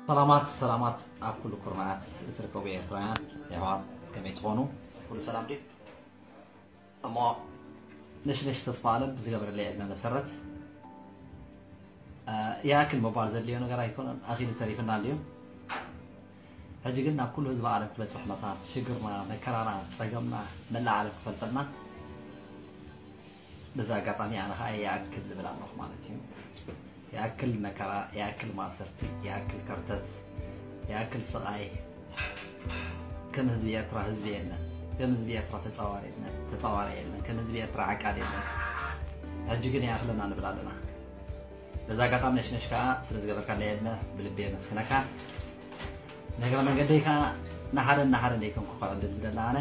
ሰላማት ሰላማት ኣብ ኩሉ ኩርናዓት እትርከቡ ኤርትራውያን የሕዋት፣ ከመይ ትኾኑ? ኩሉ ሰላም ድዩ? እሞ ነሽነሽ ተስፋ ኣለም ብዝገበረለይ ዕድመ መሰረት፣ እ፣ ይኣክል ምባል ዘድልዮ ነገር ኣይኮነን፣ ኣኺሉ ተሪፍና ኣልዩ። ሕጂ ግን ናብ ኩሉ ህዝቢ ዓለም ክበጽሕ መታን ሽግርና፣ መከራና፣ ጸገምና መላእ ዓለም ክፈልጠልና፣ በዚ ኣጋጣሚ ኣነ ኸኣ ይኣክል ዝብል ኣለኹ ማለት እዩ። ይኣክል መከራ፣ ይኣክል ማእሰርቲ፣ ይኣክል ከርተት፣ ይኣክል ስቓይ። ከም ህዝቢ ኤርትራ ህዝቢ የለን። ከም ህዝቢ ኤርትራ ተጻዋሪ የለን፣ ተጻዋሪ የለን። ከም ህዝቢ ኤርትራ ዓቃል የለን። ሕጂ ግን ይኣኽለና ንብል ኣለና። በዚ ኣጋጣሚ ነሽነሽ ከኣ ስለ ዝገበርካለይ ዕድመ ብልቢ የመስግነካ። ንእግረ መንገደይ ከኣ ንሓደ ንሓደ ዘይኮንኩ ከዕድል ዝደሊ ኣነ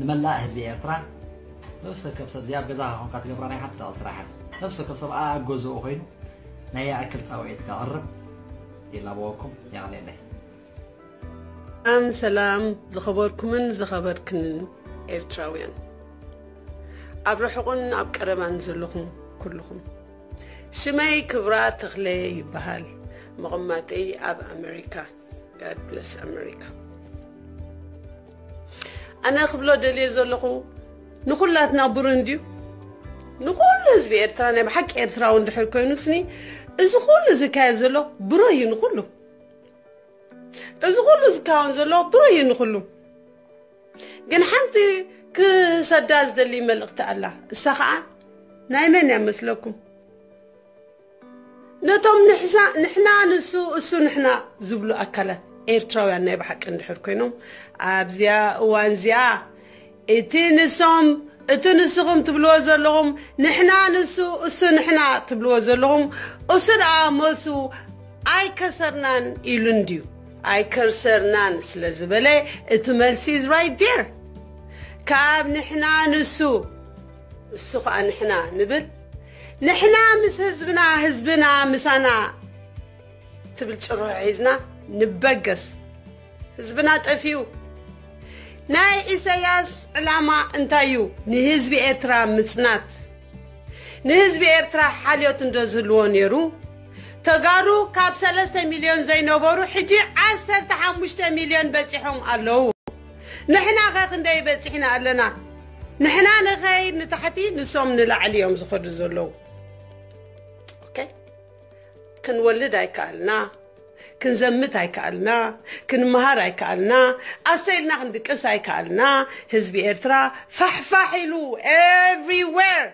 ንመላእ ህዝቢ ኤርትራ፣ ነፍሲ ወከፍ ሰብ እዚኣ ኣብ ገዛኻ ኮንካ ትገብራ ናይ ሓዳቕ ስራሕ እያ። ነፍሲ ወከፍ ሰብ ኣብ ገዝኡ ኮይኑ ናይ ይኣክል ጻውዒት ከቕርብ ይላበወኩም። የቐንየለይ። ሰላም ሰላም ዝኸበርኩምን ዝኸበርክንን ኤርትራውያን፣ ኣብ ርሑቕን ኣብ ቀረባን ዘለኹም ኩልኹም። ሽመይ ክብራ ተኽለ ይበሃል። መቐመጠይ ኣብ ኣሜሪካ። God bless America። ኣነ ክብሎ ደልየ ዘለኹ ንኹላትና ብሩህ እንድዩ። ንኹሉ ህዝቢ ኤርትራ ናይ ብሓቂ ኤርትራዊ እንድሕር ኮይኑ ስኒ እዚ ኩሉ ዝካየድ ዘሎ ብሩህ እዩ ንኹሉ። እዚ ኩሉ ዝካወን ዘሎ ብሩህ እዩ ንኹሉ። ግን ሓንቲ ክሰዳ ዝደሊ መልእኽቲ ኣላ። እሳ ኸኣ ናይ መን እያ መስለኩም? ነቶም ንሕሳ-፣ ንሕና ንሱ፣ እሱ ንሕና ዝብሉ ኣካላት ኤርትራውያን ናይ ብሓቂ እንድሕር ኮይኖም ኣብዚኣ እዋን እዚኣ እቲ ንሶም፣ እቲ ንስኹም ትብልዎ ዘለኹም ንሕና ንሱ፣ እሱ ንሕና ትብልዎ ዘለኹም እሱ ደኣ መልሱ ኣይከሰርናን ኢሉ እንድዩ። ኣይከሰርናን ስለ ዝበለ እቲ መልሲ is right there። ካብ ንሕና ንሱ እሱ ኸኣ ንሕና ንብል፣ ንሕና ምስ ህዝብና፣ ህዝብና ምሳና ትብል ጭርሖ ሒዝና ንበገስ። ህዝብና ጠፊኡ። ናይ ኢሳያስ ዕላማ እንታይ እዩ? ንህዝቢ ኤርትራ ምጽናት። ንህዝቢ ኤርትራ ሓልዮት እንዶ ዝህልዎ ነይሩ፣ ተጋሩ ካብ ሰለስተ ሚልዮን ዘይነበሩ ሕጂ ዓሰርተ ሓሙሽተ ሚልዮን በጺሖም ኣለዉ። ንሕና ኸ ክንደይ በጺሕና ኣለና? ንሕና ንኸይድ ንታሕቲ፣ ንሶም ንላዕሊ እዮም ዝኸዱ ዘለዉ። ኦኬ? ክንወልድ ኣይከኣልና፣ ክንዘምት ኣይከኣልና፣ ክንመሃር ኣይከኣልና፣ ኣሰይልና ክንድቅስ ኣይከኣልና። ህዝቢ ኤርትራ ፋሕፋሕ ኢሉ everywhere።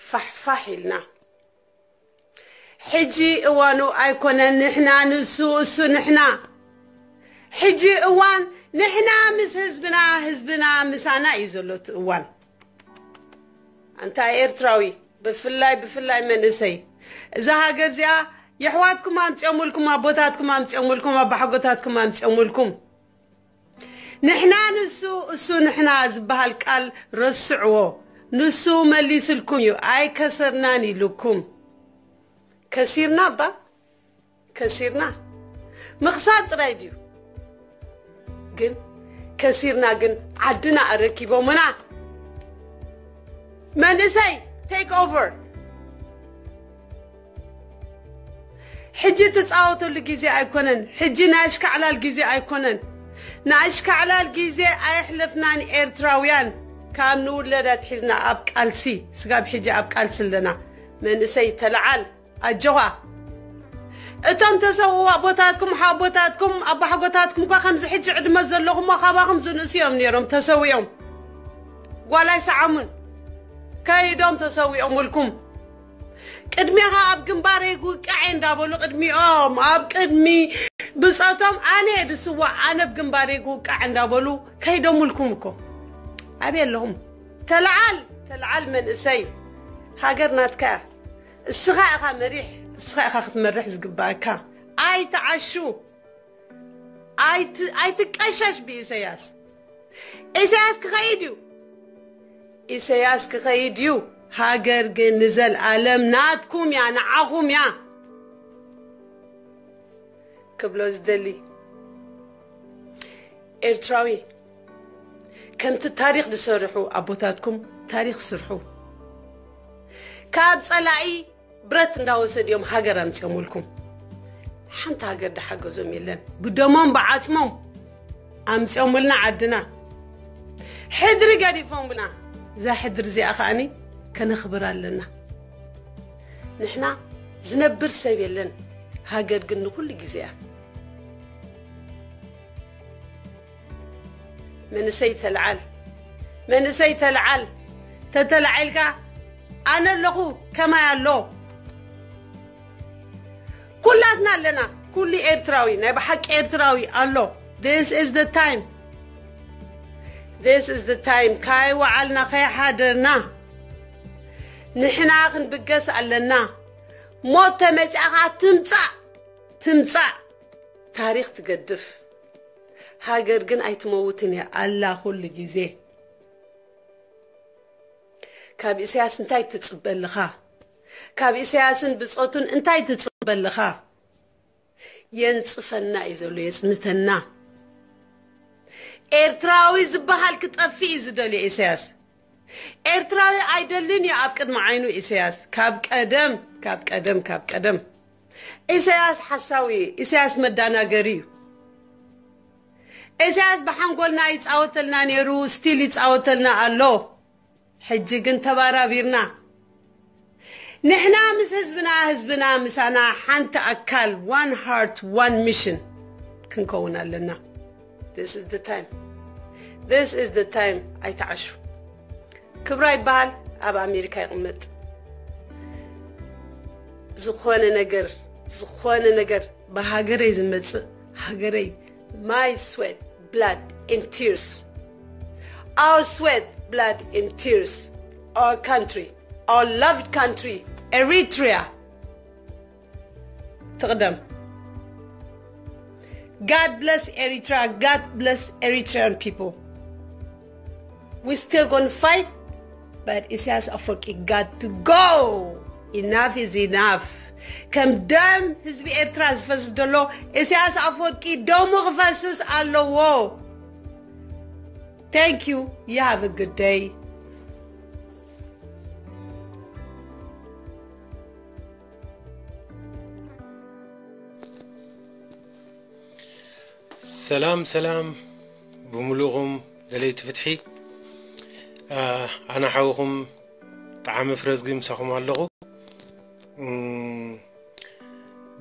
ፋሕፋሕ ኢልና። ሕጂ እዋኑ ኣይኮነን ንሕና ንሱ፣ እሱ ንሕና። ሕጂ እዋን ንሕና ምስ ህዝብና፣ ህዝብና ምሳና እዩ ዘሎ እቲ እዋን። ኣንታ ኤርትራዊ፣ ብፍላይ፣ ብፍላይ መንእሰይ፣ እዛ ሃገር እዚኣ የሕዋትኩም ኣምጺኦምልኩም፣ ኣቦታትኩም ኣምጺኦምልኩም፣ ኣባሓጎታትኩም ኣምጺኦምልኩም። ንሕና ንሱ፣ እሱ ንሕና ዝበሃል ቃል ረስዕዎ። ንሱ መሊስልኩም እዩ፣ ኣይከሰርናን ኢሉኩም። ከሲርና እባ፣ ከሲርና። ምኽሳር ጥራይ ድዩ? ግን ከሲርና ግን ዓድና ኣረኪቦምና። መንእሰይ፣ take over። ሕጂ ትጻወተሉ ግዜ ኣይኮነን። ሕጂ ናይ ኣሽካዕላል ግዜ ኣይኮነን። ናይ ኣሽካዕላል ግዜ ኣየሕለፍናን ኤርትራውያን። ካብ ንውለድ ኣትሒዝና ኣብ ቃልሲ፣ ስጋብ ሕጂ ኣብ ቃልሲ ኣለና። መንእሰይ ተለዓል፣ ኣጆኻ። እቶም ተሰውኡ ኣቦታትኩም፣ ሓቦታትኩም፣ ኣባሓጎታትኩም እኳ ከምዚ ሕጂ ዕድመ ዘለኹሞ ካባኹም ዝንእሱ እዮም ነይሮም ተሰዊኦም። ጓል ኣይሰዓሙን። ከይዶም ተሰዊኦምልኩም። ቅድሜኻ ኣብ ግንባረይ ክውቃዕ እየ እንዳበሉ ቅድሚኦም፣ ኣብ ቅድሚ ብጾቶም ኣነ እየ ዝስዋእ፣ ኣነ ኣብ ግንባረይ ክውቃዕ እንዳበሉ ከይዶምልኩም እኮ። ኣበይ ኣለኹም? ተለዓል፣ ተለዓል መንእሰይ። ሃገር ናትካ እያ። እስኻ ኢኻ መሪሕ፣ እስኻ ኢኻ ክትመርሕ ዝግባእካ። ኣይትዓሹ። ኣይት-፣ ኣይትቀሸሽ ብኢሳያስ። ኢሳያስ ክኸይድ እዩ። ኢሳያስ ክኸይድ እዩ። ሃገር ግን ንዘልኣለም ናትኩም እያ፣ ንዓኹም እያ። ክብሎ ዝደሊ ኤርትራዊ፣ ከምቲ ታሪኽ ዝሰርሑ ኣቦታትኩም ታሪኽ ስርሑ። ካብ ጸላኢ ብረት እንዳወሰዱ እዮም ሃገር ኣምጺኦምልኩም። ሓንቲ ሃገር ዝሓገዞም የለን። ብደሞም ብዓጽሞም ኣምጺኦምልና ዓድና። ሕድሪ ገዲፎምና። እዛ ሕድሪ እዚኣ ከኣኒ ከነኽብር ኣለና። ንሕና ዝነብር ሰብ የለን፣ ሃገር ግን ንኹሉ ግዜ እያ። መንእሰይ ተልዓል፣ መንእሰይ ተልዓል። ተተላዒልካ ኣነ ኣለኹ፣ ከማይ ኣሎ። ኩላትና ኣለና። ኩሉ ኤርትራዊ፣ ናይ ብሓቂ ኤርትራዊ ኣሎ። This is the time. This is the time. ካይ ወዓልና፣ ካይ ሓደርና። ንሕና ክንብገስ ኣለና። ሞት ተመጺኣ ኸዓ ትምጻእ፣ ትምጻእ። ታሪኽ ትገድፍ። ሃገር ግን ኣይትመውትን እያ፣ ኣላ ኩሉ ግዜ። ካብ ኢሳያስ እንታይ ትጽበ ኣለኻ? ካብ ኢሳያስን ብጾቱን እንታይ ትጽበ ኣለኻ? የንጽፈና እዩ ዘሎ፣ የጽንተና። ኤርትራዊ ዝበሃል ክጠፍእ እዩ ዝደልዮ ኢሳያስ። ኤርትራዊ ኣይደልን እዩ ኣብ ቅድሚ ዓይኑ ኢሳያስ። ካብ ቀደም፣ ካብ ቀደም፣ ካብ ቀደም። ኢሳያስ ሓሳዊ እዩ። ኢሳያስ መዳናገሪ እዩ። ኢሳያስ ብሓንጎልና ይጻወተልና ነይሩ፣ ስቲል ይጻወተልና ኣሎ። ሕጂ ግን ተባራቢርና። ንሕና ምስ ህዝብና፣ ህዝብና ምሳና፣ ሓንቲ ኣካል፣ one heart, one mission ክንከውን ኣለና። This is the time. This is the time. ኣይትዓሹ። ክብራ ይበሃል፣ ኣብ ኣሜሪካ ይቕመጥ። ዝኾነ ነገር፣ ዝኾነ ነገር ብሃገረይ ዝመጽእ፣ ሃገረይ፣ my sweat, blood and tears. Our sweat, blood and tears. Our country, our loved country, Eritrea. ትቕደም። God bless Eritrea. God bless Eritrean people. We still gonna fight, but Isaias Afwerki got to go. Enough is enough. ከም ደም ህዝቢ ኤርትራ ዝፈስስ ዘሎ ኢሳያስ ኣፈወርቂ ደሙ ክፈስስ ኣለዎ። Thank you. You have a good day. ሰላም ሰላም ብምሉእኹም ደለይቲ ፍትሒ። ኣነ ሓውኹም ጠዓመ ፍረዝጊ ምሳኹም ኣለኹ።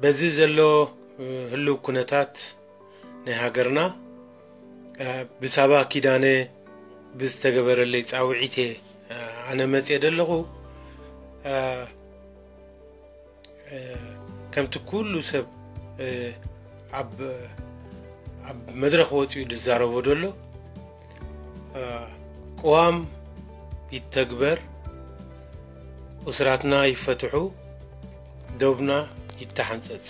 በዚ ዘሎ ህልው ኩነታት ናይ ሃገርና ብሳባ ኪዳነ ብዝተገበረለይ ጻውዒት እየ ኣነ መጽየ ዘለኹ። ከምቲ ኩሉ ሰብ ኣብ ኣብ መድረኽ ወጺኡ ዝዛረቦ ዘሎ ቅዋም ይተግበር፣ እሱራትና ይፈትሑ፣ ዶብና ይተሓንጸጽ።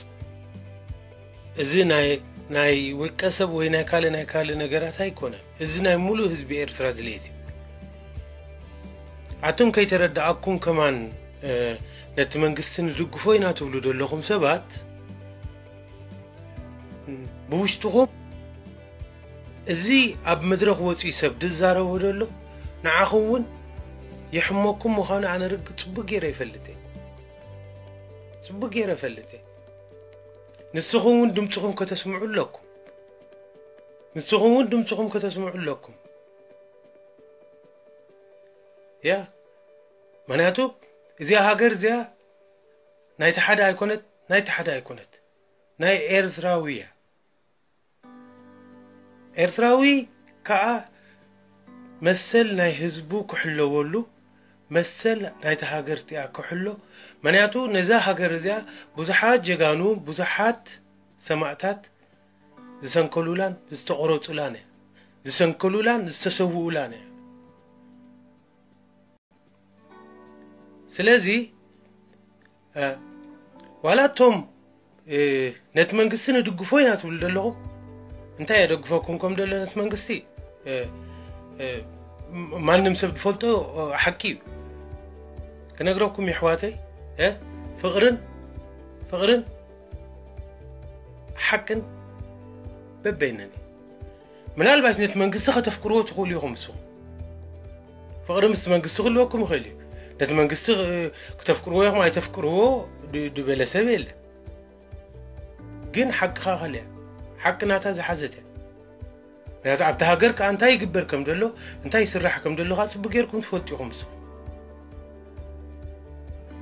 እዚ ናይ ናይ ውልቀ ሰብ ወይ ናይ ካልእ ናይ ካልእ ነገራት ኣይኮነን። እዚ ናይ ሙሉእ ህዝቢ ኤርትራ ድሌት እዩ። ኣቱም ከይተረድኣኩም ከማን ነቲ መንግስቲ ንድግፎ ኢና ትብሉ ዘለኹም ሰባት ብውሽጥኹም እዚ ኣብ መድረኽ ወፂኡ ሰብ ዝዛረቦ ዘሎ ንዓኹም እውን የሕመኩም ምዃኑ ኣነ ርግፅ ፅቡቅ ገይረ ይፈልጥ እየ። ፅቡቅ ገይረ ይፈልጥ እየ። ንስኹም እውን ድምፅኹም ከተስምዑ ኣለኩም። ንስኹም እውን ድምፅኹም ከተስምዑ ኣለኩም። ያ ምክንያቱ እዚኣ ሃገር እዚኣ ናይቲ ሓደ ኣይኮነት፣ ናይቲ ሓደ ኣይኮነት፣ ናይ ኤርትራዊ እያ። ኤርትራዊ ከዓ መሰል ናይ ህዝቡ ክሕለወሉ፣ መሰል ናይቲ ሃገር እቲኣ ክሕሎ። ምክንያቱ ነዛ ሃገር እዚኣ ብዙሓት ጀጋኑ፣ ብዙሓት ሰማእታት ዝሰንከሉላን ዝተቆረፁላን እያ። ዝሰንከሉላን ዝተሰውኡላን እያ። ስለዚ ዋላ እቶም ነቲ መንግስቲ ንድግፎ ኢና ትብሉ ዘለኹም፣ እንታይ የደግፈኩም ከም ደሎ ነቲ መንግስቲ ማንም ሰብ ዝፈልጦ ሓቂ እዩ። ክነግረኩም የሕዋተይ፣ ፍቕርን ፍቕርን ሓቅን በበይነን እዩ። ምናልባት ነቲ መንግስቲ ከተፍቅርዎ ትኽእሉ ኢኹም። ንስኹም ፍቕሪ ምስ መንግስቲ ክህልወኩም ይኽእል እዩ። ነቲ መንግስቲ ክተፍቅርዎ ኢኹም ኣይተፍቅርዎ ዝበለ ሰብ የለን። ግን ሓቅኻ ካልእ እያ። ሓቂ ናታ ዝሓዘት እያ። ምክንያቱ ኣብቲ ሃገር ከኣ እንታይ ይግበር ከም ዘሎ፣ እንታይ ይስራሕ ከም ዘሎ ከኣ ጽቡቅ ጌርኩም ትፈልጡ ኢኹም ንስኹም።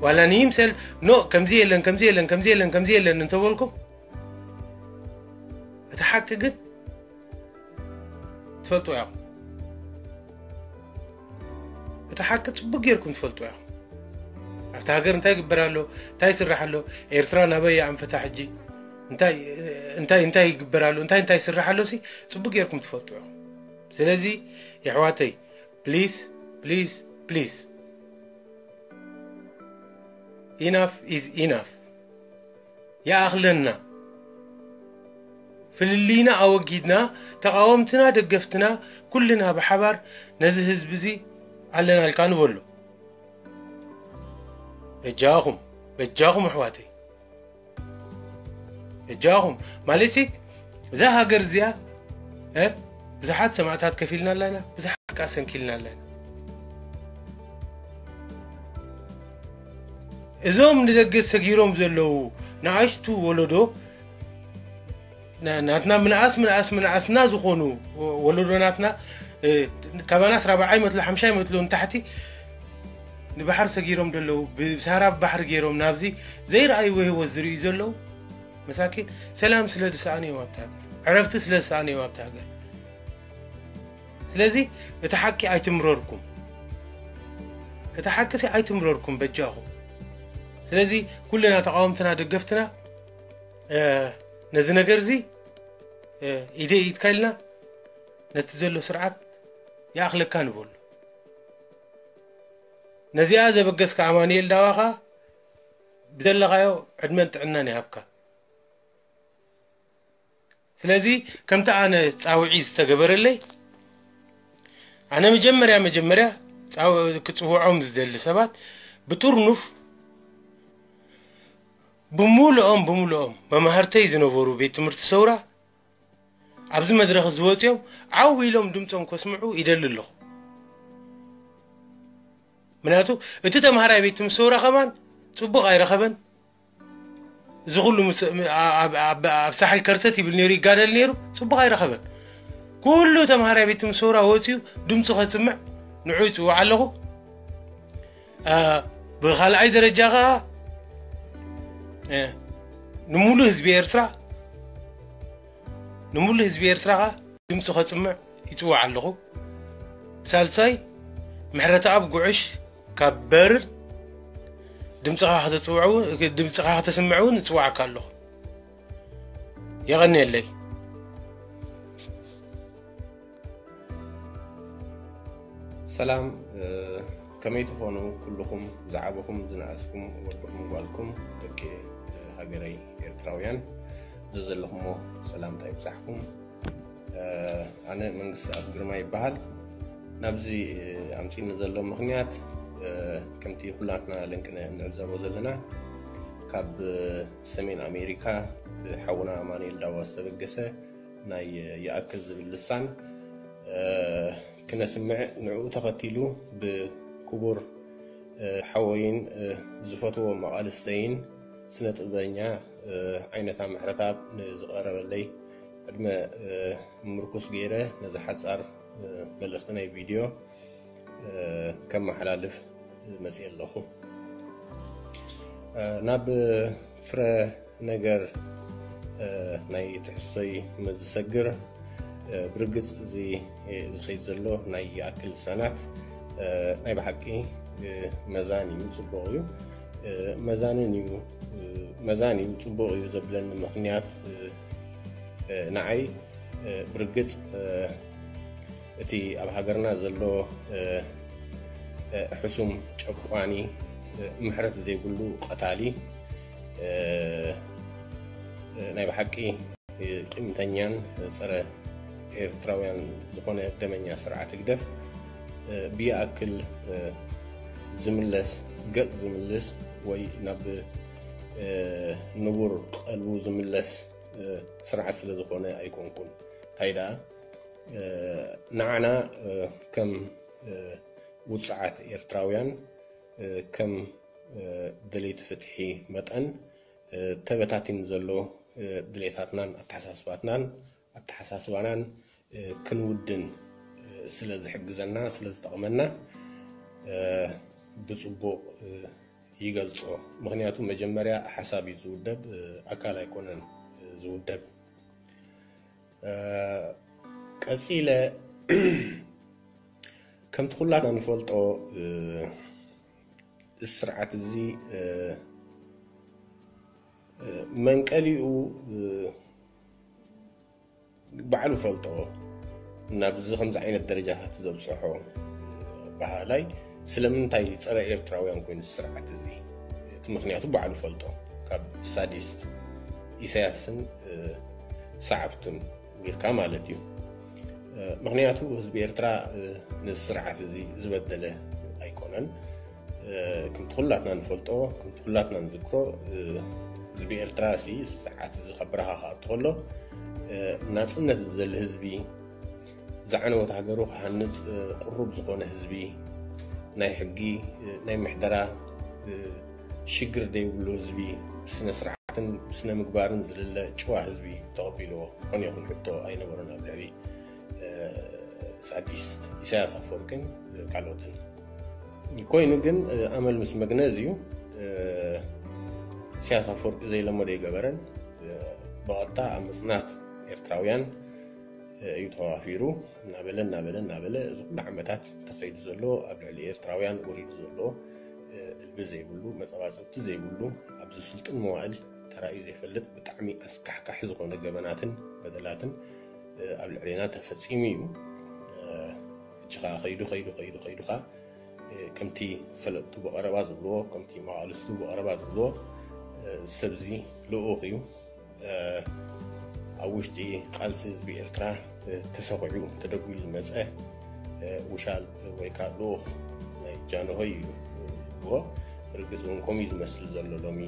ዋላ ንይምሰል ኖ ከምዚ የለን፣ ከምዚ የለን፣ ከምዚ የለን፣ ከምዚ የለን እንተበልኩም፣ እቲ ሓቂ ግን ትፈልጡ ኢኹም። እቲ ሓቂ ጽቡቅ ጌርኩም ትፈልጡ ኢኹም። ኣብቲ ሃገር እንታይ ይግበር ኣሎ፣ እንታይ ይስራሕ ኣሎ፣ ኤርትራ ናበይ እያ ኣንፈታ ሕጂ፣ እንታይ እንታይ እንታይ ይግበር ኣሎ፣ እንታይ እንታይ ይስራሕ ኣሎ ሲ ጽቡቅ ጌርኩም ትፈልጡ ኢኹም። ስለዚ የሕዋተይ please please please enough is enough። ይኣኽለና። ፍልልይና ኣወጊድና ተቓወምትና ደገፍትና ኩልና ብሓባር ነዚ ህዝቢ እዚ ኣለናልካ ንበሎ። በጃኹም በጃኹም ኣሕዋተይ በጃኹም ማለት እዛ ሃገር እዚኣ እ ብዙሓት ሰማእታት ከፊልና ኣለና፣ ብዙሓት ከኣ ሰንኪልና ኣለና። እዞም ንደገ ሰጊሮም ዘለዉ ንኣሽቱ ወለዶ ናትና ምንኣስ ምንኣስ ምንኣስና ዝኾኑ ወለዶ ናትና ካባናስ ራብዓይ መትሎ ሓምሻይ መትሎ ንታሕቲ ንባሕር ሰጊሮም ዘለዉ ብሳራ ባሕሪ ገይሮም ናብዚ ዘይረኣይዎ ህይወት ዝርእዩ ዘለዉ መሳኪን ሰላም ስለ ዝሰኣኑ እዮም ኣብታ ሃገር፣ ዕረፍቲ ስለ ዝሰኣኑ እዮም ኣብታ ሃገር። ስለዚ እቲ ሓቂ ኣይትምረርኩም፣ እቲ ሓቂ ሲ ኣይትምረርኩም በጃኹም። ስለዚ ኩልና ተቃወምትና ደገፍትና ነዚ ነገር እዚ ኢደ ኢድካ ኢልና ነቲ ዘሎ ስርዓት ይኣኽለካ ንበሉ። ነዚኣ ዘበገስካ ኣማኑኤል ዳዋኻ ብዘለኻዮ ዕድመን ጥዕናን ይሃብካ። ስለዚ ከምቲ ኣነ ጻውዒ ዝተገበረለይ ኣነ መጀመርያ መጀመርያ ክጽውዖም ዝደሊ ሰባት ብጥርኑፍ ብሙሉኦም ብሙሉኦም መማህርተይ ዝነበሩ ቤት ትምህርቲ ሰውራ ኣብዚ መድረኽ ዝወፅኦም ዓው ኢሎም ድምፆም ከስምዑ ይደሊ ኣለኹ። ምክንያቱ እቲ ተምሃራይ ቤት ትምህርቲ ሰውራ ከማን ፅቡቕ ኣይረኸበን። እዚ ኩሉ ኣብ ሳሕል ከርተት ይብል ነይሩ ይጋደል ነይሩ ፅቡቕ ኣይረኸበን። ኩሉ ተምሃራይ ቤት ትምህርቲ ሰውራ ወፂኡ ድምፁ ከስምዕ ንዑ ይፅውዕ ኣለኹ። ብኻልኣይ ደረጃ ከዓ ንሙሉ ህዝቢ ኤርትራ ንሙሉ ህዝቢ ኤርትራ ከዓ ድምፂ ከፅምዕ ይፅውዕ ኣለኹ። ብሳልሳይ ምሕረተኣብ ጉዕሽ ካብ በርን ድምፅኻ ከተፅውዕ እውን ድምፅኻ ከተስምዕ እውን እፅዋዕካ ኣለኹ። የቐንየለይ። ሰላም ከመይ ትኾኑ ኩልኹም ዝዓበኹም ዝነኣስኩም ወድኹም ጓልኩም ደቂ ሃገረይ ኤርትራውያን ዘዘለኹሞ ሰላምታ ይብጻሕኩም። ኣነ መንግስቲ ኣብ ግርማ ይበሃል። ናብዚ ኣምፂኒ ዘሎ ምኽንያት ከምቲ ኩላትና ለንቅነ እንዕዘቦ ዘለና ካብ ሰሜን ኣሜሪካ ብሓውና ኣማኑኤል ዳዋ ዝተበገሰ ናይ ይኣክል ዝብል ልሳን ክነስምዕ ንዕኡ ተኸቲሉ ብክቡር ሓወይን ዝፈትዎ መቓልስተይን ስነ ጥበበኛ ዓይነታ ምሕረተኣብ ንዝቐረበለይ ዕድመ ምርኩስ ገይረ ነዚ ሓፃር መልእኽቲ ናይ ቪድዮ ከመሓላልፍ መፅየ ኣለኹ። ናብ ፍረ ነገር ናይ ትሕዝቶይ ምስ ዝሰግር ብርግፅ እዚ ዝኸይድ ዘሎ ናይ ይኣክል ልሳናት ናይ ብሓቂ መዛን እዩ፣ ፅቡቕ እዩ፣ መዛንን እዩ፣ መዛን እዩ፣ ፅቡቕ እዩ ዘብለኒ ምኽንያት ንዓይ ብርግፅ እቲ ኣብ ሃገርና ዘሎ ሕሱም ጨቋኒ ምሕረት ዘይብሉ ቀታሊ ናይ ብሓቂ ቂምተኛን ፀረ ኤርትራውያን ዝኾነ ደመኛ ስርዓት ህግደፍ ብይኣክል ዝምለስ ገፅ ዝምልስ ወይ ናብ ንቡር ቀልቡ ዝምለስ ስርዓት ስለ ዝኾነ ኣይኮንኩን። እንታይ ደኣ ንዓና ከም ውፅዓት ኤርትራውያን ከም ደለይቲ ፍትሒ መጠን ተበታቲኑ ዘሎ ድሌታትናን ኣተሓሳስባትናን ኣተሓሳስባናን ክንውድን ስለ ዝሕግዘና፣ ስለ ዝጠቕመና ብፅቡቕ ይገልፆ። ምክንያቱ መጀመርያ ሓሳብ እዩ ዝውደብ፣ ኣካል ኣይኮነን ዝውደብ። ቀፂለ ከምቲ ኩላትና ንፈልጦ ስርዓት እዚ መንቀሊኡ ባዕሉ ፈልጦ ናብዚ ከምዚ ዓይነት ደረጃታት ዘብፅሖ ባህላይ ስለምንታይ ፀረ ኤርትራውያን ኮይኑ ስርዓት እዚ? እቲ ምክንያቱ ባዕሉ ፈልጦ ካብ ሳዲስት ኢሳያስን ሰዓብቱን ቢርካ ማለት እዩ። ምክንያቱ ህዝቢ ኤርትራ ነዚ ስርዓት እዚ ዝበደለ ኣይኮነን። ከምቲ ኩላትና ንፈልጦ፣ ከምቲ ኩላትና ንዝክሮ፣ ህዝቢ ኤርትራ ሲ ስርዓት እዚ ካብ በረኻ ክኣቱ ከሎ ናፅነት ዝደሊ ህዝቢ፣ ዝዓነወት ሃገሩ ክሃንፅ ቅሩብ ዝኾነ ህዝቢ፣ ናይ ሕጊ፣ ናይ ምሕደራ ሽግር ዘይብሉ ህዝቢ፣ ብስነ ስርዓትን ብስነ ምግባርን ዝልለ ጭዋ ህዝቢ ተቐቢልዎ። ኮነ ይኹን ሕቶ ኣይነበሮን ኣብ ልዕሊ ሳዲስት ኢሳያስ ኣፈወርቅን ካልኦትን። ኮይኑ ግን ኣመል ምስ መግነዝ እዩ። ኢሳያስ ኣፈወርቂ ዘይለመዶ ይገበረን ብቐጥታ ኣብ ምጽናት ኤርትራውያን እዩ ተዋፊሩ። እናበለ እናበለ እናበለ እዚ ኩሉ ዓመታት ተኸይዱ ዘሎ ኣብ ልዕሊ ኤርትራውያን ወሪዱ ዘሎ እልቢ ዘይብሉ፣ መጸባጸብቲ ዘይብሉ፣ ኣብዚ ስልጡን መዋእል ተራእዩ ዘይፈልጥ ብጣዕሚ ኣስካሕካሒ ዝኾነ ገበናትን በደላትን ኣብ ልዕሌና ተፈጺሙ እዩ። ሕጂ ኸዓ ከይዱ ከይዱ ከይዱ ከይዱ ኸዓ ከምቲ ፈለጥቱ ብቐረባ ዝብልዎ፣ ከምቲ መቓልስቱ ብቐረባ ዝብልዎ፣ ሰብዚ ልኡኽ እዩ። ኣብ ውሽጢ ቃልሲ ህዝቢ ኤርትራ ተሰኺዑ ተደጒሉ ዝመጸ ውሻል ወይ ከዓ ልኡኽ ናይ ጃንሆይ እዩ ዝብልዎ። ብርግጽ እውን ከምኡ እዩ ዝመስል ዘሎ ሎሚ።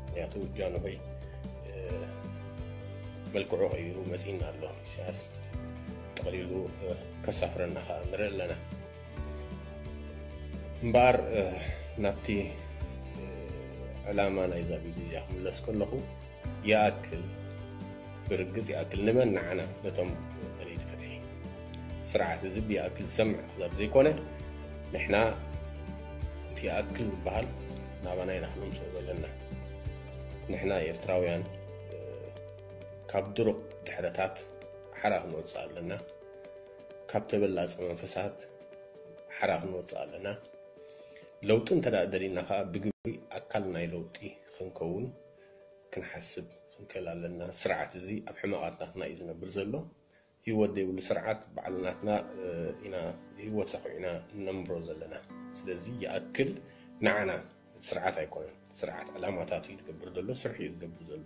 ምክንያቱ ጃንሆይ መልክዑ ቀይሩ መጺእና ኣሎ። ኢሳያስ ጠቕሊሉ ከሳፍረና ከዓ ንርኢ ኣለና። እምበኣር ናብቲ ዕላማ ናይዛ ቪድዮ እዚኣ ክምለስ ከለኹ፣ ይኣክል፣ ብርግጽ ይኣክል፣ ንመን ንዓና ነቶም ደለይቲ ፍትሒ ስርዓት እዚ ብይኣክል ዝሰምዕ ክዛብ ዘይኮነ፣ ንሕና እቲ ይኣክል ዝበሃል ናባና ኢና ክነምጽኦ ዘለና። ንሕና ኤርትራውያን ካብ ድሩቕ ድሕረታት ሓራ ክንወጽእ ኣለና። ካብ ተበላጺ መንፈሳት ሓራ ክንወጽእ ኣለና። ለውጢ እንተ ደኣ ደሊና ከኣ ብግብሪ ኣካል ናይ ለውጢ ክንከውን ክንሓስብ ክንክእል ኣለና። ስርዓት እዚ ኣብ ሕመቓት ናትና እዩ ዝነብር ዘሎ። ህይወት ዘይብሉ ስርዓት ባዕሉ ናትና ኢና ህይወት ሰኺዑ ኢና ንነምብሮ ዘለና። ስለዚ ይኣክል ንዓና እቲ ስርዓት ኣይኮነን። ስርዓት ዕላማታት እዩ ዝገብር ዘሎ፣ ስርሑ እዩ ዝገብር ዘሎ።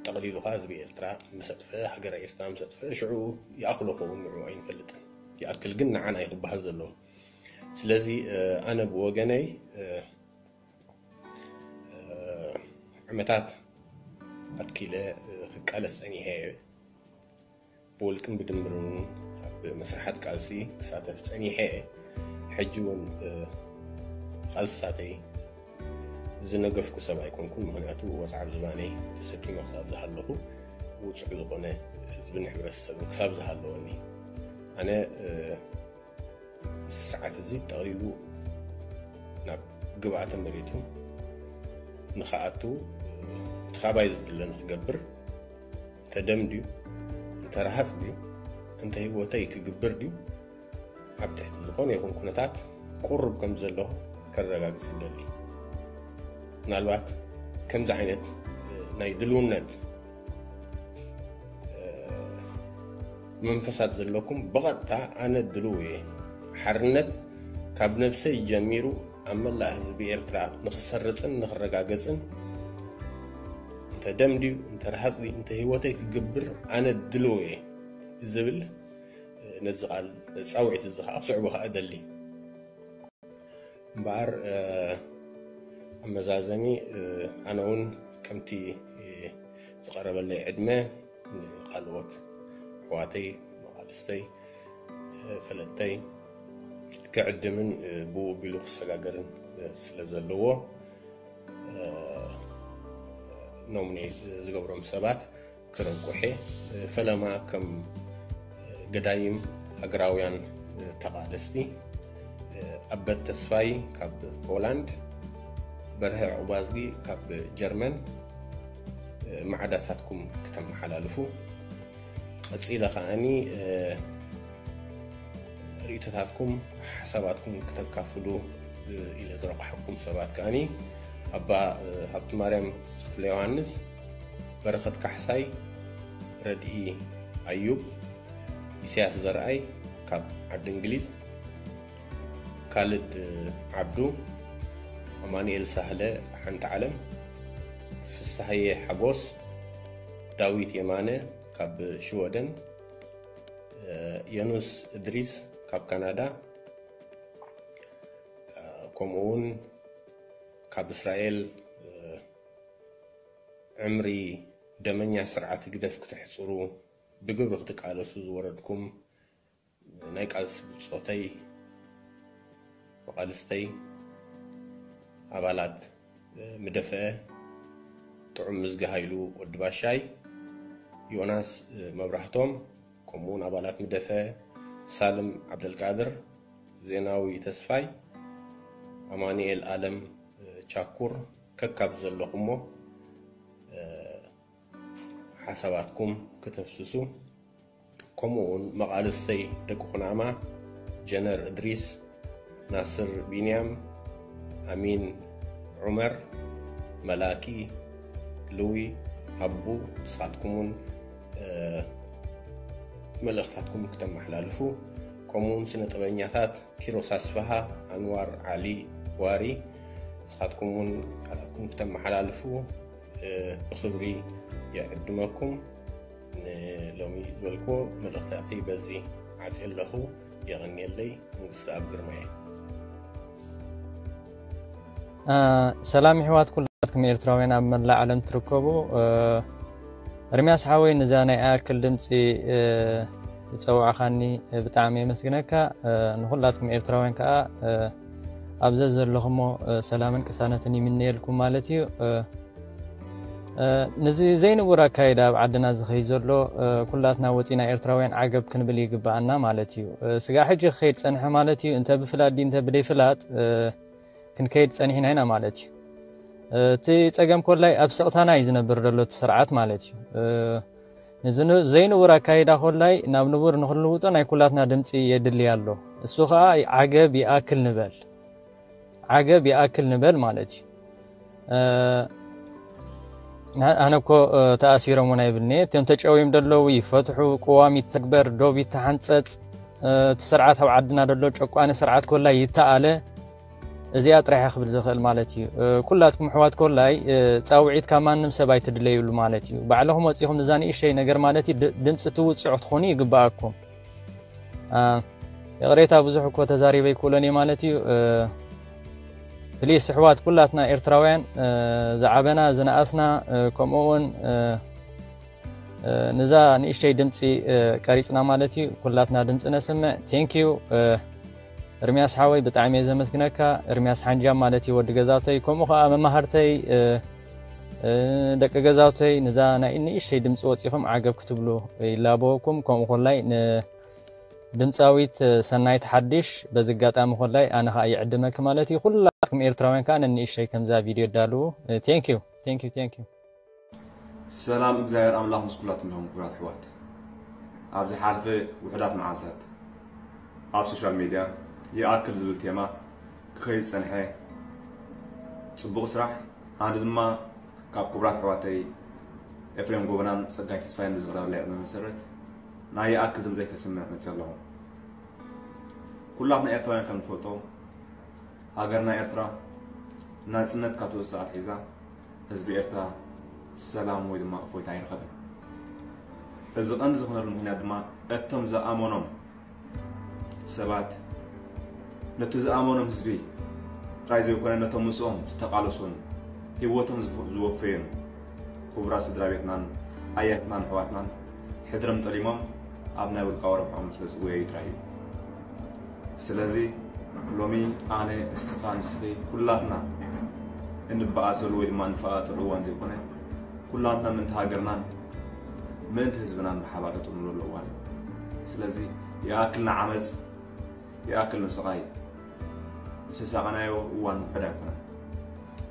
ጠቕሊሉ ኸዓ ህዝቢ ኤርትራ ምስ ኣጥፍአ፣ ሃገረ ኤርትራ ምስ ኣጥፍአ ሽዑ ይኣኽሎ ኸውን ንዑ ኣይንፈልጥን። ይኣክል ግን ንዓና እዩ ክበሃል ዘለዎ። ስለዚ ኣነ ብወገነይ ዓመታት ኣትኪለ ክቃለስ ጸኒሐ እየ። ብውልቅን ብድምርን እውን ኣብ መስርሓት ቃልሲ ክሳተፍ ጸኒሐ እየ። ሕጂ እውን ቃልስታተይ ዝነገፍኩ ሰብ ኣይኮንኩን። ምክንያቱ ወጽዓ ዝባነይ ተሰኪመ ክሳብ ዝሃለኹ ውጹዕ ዝኾነ ህዝብን ሕብረተሰብን ክሳብ ዝሃለወኒ ኣነ ስርዓት እዚ ጠቕሊሉ ናብ ግብኣተ መሬቱ ንኽኣቱ እቲ ካባይ ዝድለ ንክገብር እንተ ደም ድዩ እንተ ረሃፅ ድዩ እንተ ህይወተይ ክግብር ድዩ ኣብ ትሕቲ ዝኾነ ይኹን ኩነታት ቁሩብ ከም ዘለኹ ከረጋግፅ እደሊ። ምናልባት ከምዚ ዓይነት ናይ ድልውነት መንፈሳት ዘለኩም ብቐጥታ ኣነ ድልው እየ። ሓርነት ካብ ነብሰይ ጀሚሩ ኣብ መላእ ህዝቢ ኤርትራ ንክሰርፅን ንክረጋገፅን እንተ ደም ድዩ እንተ ረሃፅ ድዩ እንተ ህይወተይ ክግብር ኣነ ድልው እየ ዝብል ነዚ ቃል ፃውዒት እዚ ከዓ ክስዕቦ ከዓ እደሊ። እምበኣር ኣብ መዛዘሚ ኣነ እውን ከምቲ ዝቐረበለይ ዕድመ ንካልኦት ኣሕዋተይ መቓልስተይ ፈለጥተይ ክዕድምን ብኡ ቢሉ ክሰጋገርን ስለ ዘለዎ ኖሚኔት ዝገብሮም ሰባት ክረቁሕ እየ። ፈለማ ከም ገዳይም ሃገራውያን ተቓለስቲ ኣበት ተስፋይ ካብ ሆላንድ፣ በርሀ ዕቑባዝጊ ካብ ጀርመን ማዕዳታትኩም ክተመሓላልፉ፣ ቀጺለ ከዓኒ ርእይቶታትኩም ሓሳባትኩም ክተካፍሉ ኢለ ዝረቋሕኩም ሰባት ከዓኒ ኣባ ሃብቲ ማርያም ክፍለ ዮሃንስ፣ በረኸት ካሕሳይ፣ ረድኢ ኣዩብ፣ ኢሳያስ ዘርኣይ ካብ ዓዲ እንግሊዝ፣ ካልድ ዓብዱ፣ ኣማኑኤል ሳህለ፣ ሓንቲ ዓለም፣ ፍስሃየ ሓጎስ፣ ዳዊት የማነ ካብ ሽወደን፣ የኑስ እድሪስ ካብ ካናዳ፣ ከምኡ እውን ካብ እስራኤል ዕምሪ ደመኛ ስርዓት ህግደፍ ክተሕፅሩ ብግብሪ ክትቃለሱ ዝወረድኩም ናይ ቃልሲ ብፆተይ፣ መቓልስተይ፣ ኣባላት ምደፍአ፣ ጥዑም ምዝጊ ሃይሉ ወዲ ባሻይ፣ ዮናስ መብራህቶም፣ ከምኡውን ኣባላት ምደፍአ፣ ሳልም ዓብደልቃድር፣ ዜናዊ ተስፋይ፣ ኣማኑኤል ኣለም ቻኩር፣ ከካብ ዘለኹሞ ሓሳባትኩም ክተፍስሱ፣ ከምኡ እውን መቓልስተይ ደቂ ኩናማ፣ ጀነር እድሪስ፣ ናስር ቢንያም፣ ኣሚን ዑመር፣ መላኪ፣ ልዊ፣ ኣቡ፣ ንስኻትኩም እውን መልእኽታትኩም ክተመሓላልፉ፣ ከምኡ እውን ስነ ጥበበኛታት ኪሮስ ኣስፍሃ፣ ኣንዋር ዓሊ ዋሪ፣ ንስኻትኩም እውን ቃላትኩም ክተመሓላልፉ ብኽብሪ ይዕድመኩም። ንሎሚ ዝበልክዎ መልእኽታተይ በዚ ዓጽየ ኣለኹ። የቐንየለይ። መንግስቲ ኣብ ግርማየ። ሰላም ይሕዋት ኩላትኩም ኤርትራውያን ኣብ መላእ ዓለም ትርከቡ። እርምያስ ሓወይ፣ ንዛ ናይ ኣክል ድምፂ ዝፀዋዕኻኒ ብጣዕሚ የመስግነካ። ንኩላትኩም ኤርትራውያን ከዓ ኣብ ዘዘለኹሞ ሰላምን ቅሳነትን ይምነየልኩም ማለት እዩ። ንዚ ዘይንቡር ኣካይዳ ኣብ ዓድና ዝኸይ ዘሎ ኩላትና ወፂና ኤርትራውያን ዓገብ ክንብል ይግባኣና ማለት እዩ። ስጋ ሕጂ ክኸይድ ፀንሐ ማለት እዩ። እንተ ብፍላጥ ድዩ እንተ ብደይ ፍላጥ ክንከይድ ፀኒሕና ኢና ማለት እዩ። እቲ ፀገም ኮላይ ኣብ ስቕታና እዩ ዝነብር ዘሎ እቲ ስርዓት ማለት እዩ። ንዚ ዘይንቡር ኣካይዳ ኮላይ ናብ ንቡር ንክንልውጦ ናይ ኩላትና ድምፂ የድሊ ኣሎ። እሱ ከዓ ዓገብ ይኣክል ንበል። ዓገብ ይኣክል ንበል ማለት እዩ። ኣነ እኮ ተኣሲሮም እውን ኣይብልኒ። እቶም ተጨውዮም ደለዉ ይፈትሑ፣ ቅዋም ይተግበር፣ ዶብ ይተሓንፀፅ፣ እቲ ስርዓት ኣብ ዓድና ደሎ ጨቋኒ ስርዓት ኮላይ ይተኣለ። እዚኣ ጥራሕ ክብል ዝኽእል ማለት እዩ። ኩላትኩም ኣሕዋት ኮላይ ፃውዒት ካብ ማንም ሰብ ኣይትድለዩሉ ማለት እዩ። ባዕልኹም ወፂኹም እዛ ንእሽተይ ነገር ማለት እዩ ድምፂ ትውፅዑ ክትኾኑ ይግባኣኩም። ይቕሬታ ብዙሕ እኮ ተዛሪበ ይክእሎን እየ ማለት እዩ። ፕሊስ ኣሕዋት ኩላትና ኤርትራውያን ዝዓበና ዝነኣስና ከምኡ እውን ንዛ ንእሽተይ ድምፂ ቀሪፅና ማለት እዩ። ኩላትና ድምፂ ነስምዕ። ቴንኪዩ እርምያስ ሓወይ ብጣዕሚ እየ ዘመስግነካ። እርምያስ ሓንጃም ማለት እዩ ወዲ ገዛውተይ ከምኡ ከዓ መማህርተይ ደቂ ገዛውተይ ንዛ ናይ ንእሽተይ ድምፂ ወፂኹም ዓገብ ክትብሉ ይላበወኩም። ከምኡ ኮላይ ድምፃዊት ሰናይት ሓድሽ በዚ ኣጋጣሚ ኮላይ ኣነ ከዓ ይዕድመኪ ማለት እዩ። ኩላትኩም ኤርትራውያን ከዓ ነንእሽተይ ከምዛ ቪድዮ ዳልዉ። ቴንኪዩ ቴንኪዩ ቴንኪዩ። ሰላም እግዚኣብሔር ኣምላኽ ምስ ኩላትኩም ይኹን ክቡራት ኣሕዋት። ኣብ ዝሓለፈ ውሑዳት መዓልታት ኣብ ሶሻል ሜድያ ይኣክል ዝብል ቴማ ክኸይድ ዝጸንሐ ጽቡቕ ስራሕ፣ ኣነ ድማ ካብ ክቡራት ኣሕዋተይ ኤፍሬም ጎበናን ጸጋይ ተስፋይን ብዝቐረበለይ ዕድመ መሰረት ናይ ይኣክል ድምጸይ ከስምዕ መጺአ ኣለኹ። ኩላትና ኤርትራውያን ከም ንፈልጦ ሃገርና ኤርትራ ናጽነት ካብ ትወስድ ኣትሒዛ ህዝቢ ኤርትራ ሰላም ወይ ድማ እፎይታ ኣይረኸበን። እዚ ቀንዲ ዝኾነሉ ምኽንያት ድማ እቶም ዝኣመኖም ሰባት ነቲ ዝኣመኖም ህዝቢ ጥራይ ዘይኮነ ነቶም ምስኦም ዝተቓለሱን ህይወቶም ዝወፈዩን ክቡራት ስድራ ቤትናን ኣያትናን ኣሕዋትናን ሕድሮም ጠሊሞም ኣብ ናይ ውልቃዊ ረብሖም ስለ ዝጎየዩ ጥራይ እዩ። ስለዚ ሎሚ ኣነ፣ እስኻ፣ ንስኺ ኩላትና እንበኣሰሉ ወይ ድማ እንፈኣጠሉ እዋን ዘይኮነ ኩላትና ምእንቲ ሃገርናን ምእንቲ ህዝብናን ብሓባር ክጥምረሉ እዋን እዩ። ስለዚ ይኣክል ንዓመፅ፣ ይኣክል ንስቓይ። ዝተሳቐናዮ እዋን ውሑድ ኣይኮነን።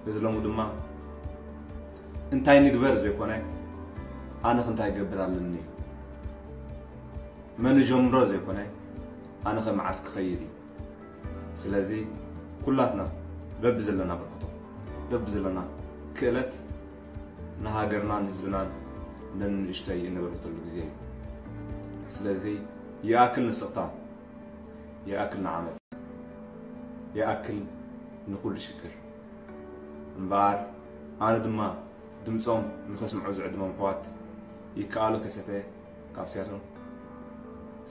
እዚ ሎሚ ድማ እንታይ ንግበር ዘይኮነ፣ ኣነ ኸ እንታይ ክገብር ኣለኒ እዩ። መን ጀምሮ ዘይኮነ፣ ኣነ ኸ መዓስ ክኸይድ እዩ። ስለዚ ኩላትና በብዘለና በርክቶ፣ በብዘለና ክእለት ንሃገርናን ህዝብናን ነንእሽተይ እንበርክተሉ ግዜ እዩ። ስለዚ ይኣክል ንስቕታ፣ ይኣክል ንዓመፅ፣ ይኣክል ንኹሉ ሽግር። እምበኣር ኣነ ድማ ድምፆም ንኸስምዑ ዝዕድሞም ኣሕዋት ይከኣሎ ከሰተ ካብ ሲያትል፣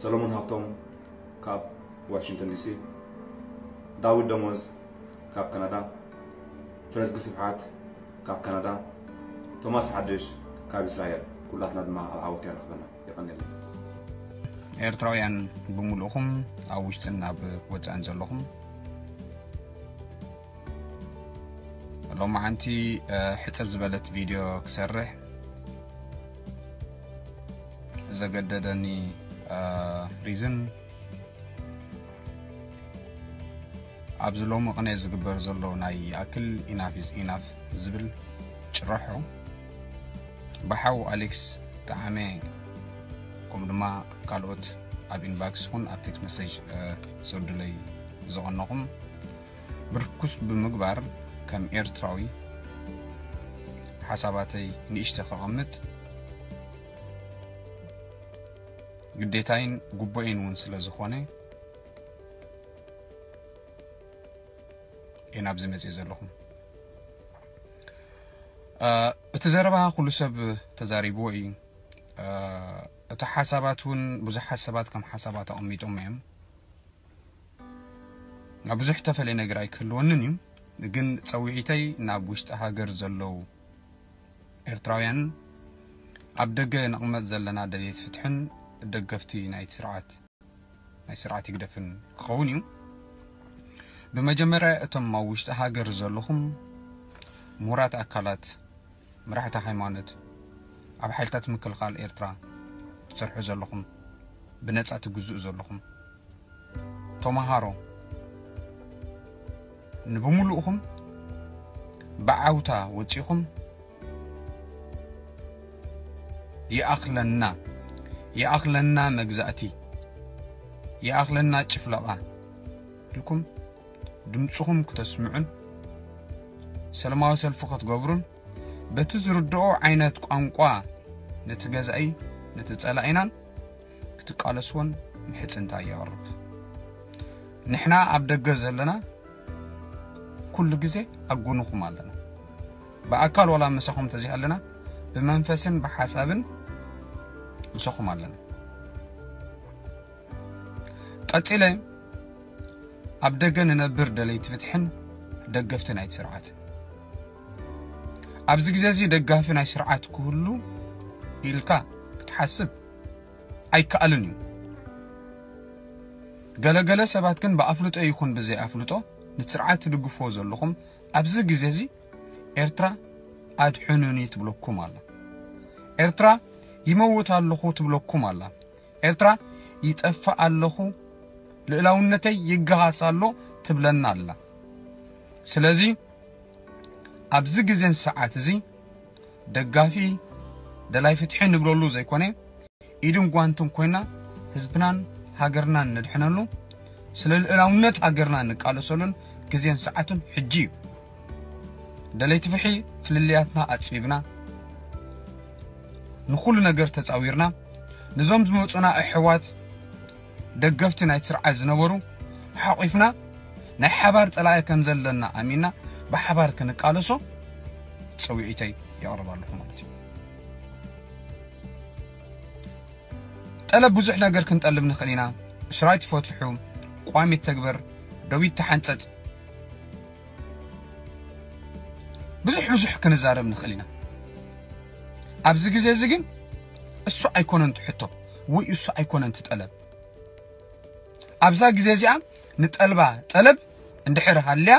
ሰሎሞን ሃብቶም ካብ ዋሽንግተን ዲሲ፣ ዳዊት ደሞዝ ካብ ካናዳ፣ ፍረዝጊ ስብሓት ካብ ካናዳ፣ ቶማስ ሓድሽ ካብ እስራኤል፣ ኩላትና ድማ ኣብ ዓወት የራኽበና። የቐንየለይ። ኤርትራውያን ብምሉእኹም ኣብ ውሽጥን ኣብ ወጻእን ዘለኹም ሎማዓንቲ ሕጽር ዝበለት ቪድዮ ክሰርሕ ዘገደደኒ ሪዝን ኣብዚ ሎሚ ቅነ ዝግበር ዘሎ ናይ ይኣክል ኢናፍ ኢዝ ኢናፍ ዝብል ጭረሖ ብሓው ኣሌክስ ጠዓመ ከምኡ ድማ ካልኦት ኣብ ኢንባክስ ይኹን ኣብ ቴክስት መሴጅ ዝወርዱለይ ዝቐነኹም ብርኩስ ብምግባር ከም ኤርትራዊ ሓሳባተይ ንእሽተ ከቐምጥ ግዴታይን ጉቦኤን እውን ስለ ዝኾነ እየ ናብዚ መፅእ ዘለኹ። እቲ ዘረባ ኩሉ ሰብ ተዛሪብዎ እዩ። እቲ ሓሳባት እውን ብዙሓት ሰባት ከም ሓሳባት ኣቐሚጦም እዮም። ናብ ብዙሕ ተፈለየ ነገር ኣይክህልወንን እዩ። ግን ፀውዒተይ ናብ ውሽጢ ሃገር ዘለዉ ኤርትራውያን ኣብ ደገ ንቕመጥ ዘለና ደልየት ፍትሕን ደገፍቲ ናይቲ ስርዓት ናይ ስርዓት ይግደፍን ክኸውን እዩ። ብመጀመርያ እቶም ኣብ ውሽጢ ሃገር ዘለኹም ምሁራት ኣካላት፣ መራሕቲ ሃይማኖት፣ ኣብ ሓይልታት ምክልኻል ኤርትራ ትሰርሑ ዘለኹም፣ ብነጻ ትግዝኡ ዘለኹም፣ ተመሃሮ ንብምሉእኹም ብዓውታ ወጺኹም ይኣኽለና፣ ይኣኽለና መግዛእቲ፣ ይኣኽለና ጭፍለቓ ኢልኩም ድምፅኹም ክተስምዑን ሰላማዊ ሰልፊ ክትገብሩን በቲ ዝርድኦ ዓይነት ቋንቋ ነቲ ገዛኢ ነቲ ጸላኢናን ክትቃለስዎን ምሕጽንታ የቕርብ። ንሕና ኣብ ደገ ዘለና ኩሉ ግዜ ኣብ ጎንኹም ኣለና። ብኣካል ዋላ ምሳኹም ተዘይሃለና ብመንፈስን ብሓሳብን ምሳኹም ኣለና። ቀጺለ ኣብ ደገ ንነብር ደለይቲ ፍትሕን ደገፍቲ ናይቲ ስርዓት ኣብዚ ግዜ እዚ ደጋፊ ናይ ስርዓት ክህሉ ኢልካ ክትሓስብ ኣይከኣልን እዩ። ገለገለ ሰባት ግን ብኣፍልጦ ይኹን ብዘይ ኣፍልጦ ንስርዓት ትድግፍዎ ዘለኹም ኣብዚ ግዜ እዚ ኤርትራ ኣድሕኑኒ ትብለኩም ኣላ። ኤርትራ ይመውት ኣለኹ ትብለኩም ኣላ። ኤርትራ ይጠፍእ ኣለኹ፣ ልእላውነተይ ይገሃስ ኣሎ ትብለና ኣላ። ስለዚ ኣብዚ ግዜን ሰዓት እዚ ደጋፊ ደላይ ፍትሒ ንብለሉ ዘይኮነ ኢድን ጓንትን ኮይና ህዝብናን ሃገርናን ነድሕነሉ ስለ ልእላውነት ሃገርና ንቃለሰሉን ግዜን ሰዓቱን ሕጂ እዩ። ደለይቲ ፍትሒ ፍልልያትና ኣጽቢብና ንኹሉ ነገር ተጻዊርና ነዞም ዝመጹና ኣሕዋት ደገፍቲ ናይ ስርዓት ዝነበሩ ሓቂፍና ናይ ሓባር ጸላኢ ከም ዘለና ኣሚንና ብሓባር ክንቃለሶ ጸዊዒተይ የቕርብ ኣለኹ ማለት እዩ። ጠለብ ብዙሕ ነገር ክንጠልብ ንኽእል ኢና። እስራይ ትፈትሑ፣ ቋሚ ተግበር፣ ደዊት ተሓንጸጽ። ብዙሕ ብዙሕ ክንዛረብ ንኽእል ኢና። ኣብዚ ግዜ እዚ ግን እሱ ኣይኮነን ትሕቶ ወይ እሱ ኣይኮነን ትጠለብ። ኣብዛ ግዜ እዚኣ ንጠልባ ጠለብ እንድሕር ሃልያ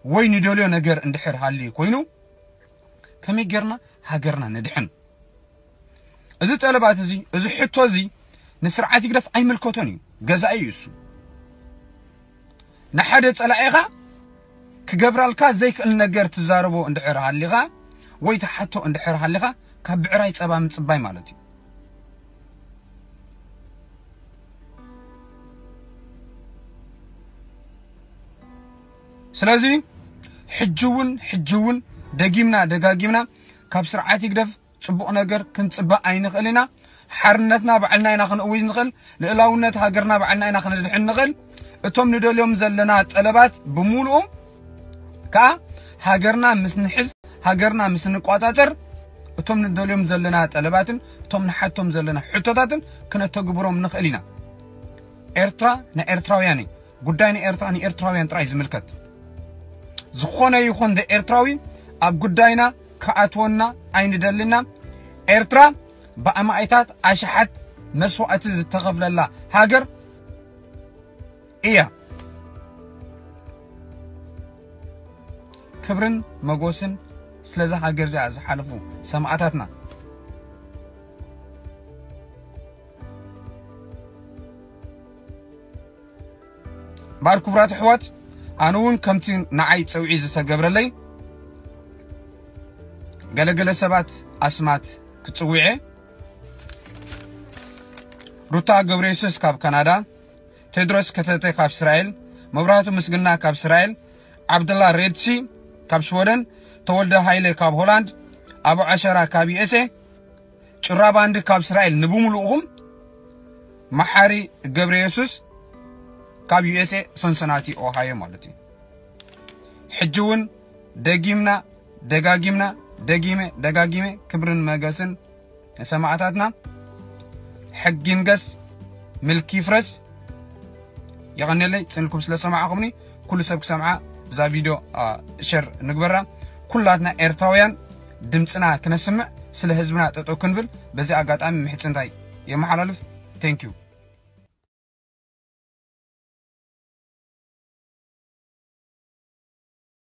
ወይ ንደልዮ ነገር እንድሕር ሃልዩ ኮይኑ ከመይ ጌርና ሃገርና ነድሕን? እዚ ጠለባት እዚ፣ እዚ ሕቶ እዚ ንስርዓት ይግደፍ ኣይምልከቶን እዩ። ገዛኢ እዩ እሱ። ንሓደ ጸላኢኻ ክገብራልካ ዘይክእል ነገር ትዛረቦ እንድሕር ሃሊኻ ወይ ትሓቶ እንድሕር ሃሊኻ ካብ ብዕራይ ጸባ ምጽባይ ማለት እዩ። ስለዚ ሕጂ እውን ሕጂ እውን ደጊምና ደጋጊምና ካብ ስርዓት ይግደፍ ጽቡቕ ነገር ክንጽበ ኣይንኽእል ኢና። ሓርነትና ባዕልና ኢና ክንእውጅ ንኽእል። ልእላውነት ሃገርና ባዕልና ኢና ክንድሕን ንኽእል። እቶም ንደልዮም ዘለና ጠለባት ብምሉኡ ከኣ ሃገርና ምስ ንሕዝ፣ ሃገርና ምስ ንቋጻጸር፣ እቶም ንደልዮም ዘለና ጠለባትን እቶም ንሓቶም ዘለና ሕቶታትን ክነተግብሮም ንኽእል ኢና። ኤርትራ ናይ ኤርትራውያን እዩ። ጉዳይ ንኤርትራ ንኤርትራውያን ጥራይ ዝምልከት ዝኾነ ይኹን ኤርትራዊ ኣብ ጉዳይና ክኣትወና ኣይንደልና። ኤርትራ ብኣማኢታት ኣሽሓት መስዋእቲ ዝተኸፍለላ ሃገር እያ። ክብርን መጎስን ስለዛ ሃገር እዚኣ ዝሓለፉ ሰማእታትና። እምበኣር ክቡራት ኣሕዋት፣ ኣነ እውን ከምቲ ንዓይ ጸውዒ ዝተገብረለይ ገለገለ ሰባት ኣስማት ክጽውዐ፣ ሩታ ገብረየሱስ ካብ ካናዳ፣ ቴድሮስ ከተተ ካብ እስራኤል፣ መብራህቱ ምስግና ካብ እስራኤል፣ ዓብደላ ሬድሲ ካብ ሽወደን፣ ተወልደ ሃይለ ካብ ሆላንድ፣ ኣቡ ዓሸራ ካብ ዩኤስኤ፣ ጭራ ባንዲ ካብ እስራኤል፣ ንብምሉእኹም መሓሪ ገብረ የሱስ ካብ ዩኤስኤ ሰንሰናቲ ኦሃዮ ማለት እዩ። ሕጂ እውን ደጊምና ደጋጊምና ደጊመ ደጋጊመ ክብርን መገስን ንሰማእታትና። ሕጊ ይንገስ፣ ምልኪ ይፍረስ። የቐንየለይ ጽንኩም ስለ ሰማዕኹምኒ። ኩሉ ሰብ ክሰምዓ እዛ ቪድዮ ሸር ንግበራ። ኩላትና ኤርትራውያን ድምፅና ክነስምዕ፣ ስለ ህዝብና ጠጠው ክንብል በዚ ኣጋጣሚ ምሕፅንታይ የመሓላልፍ። Thank you።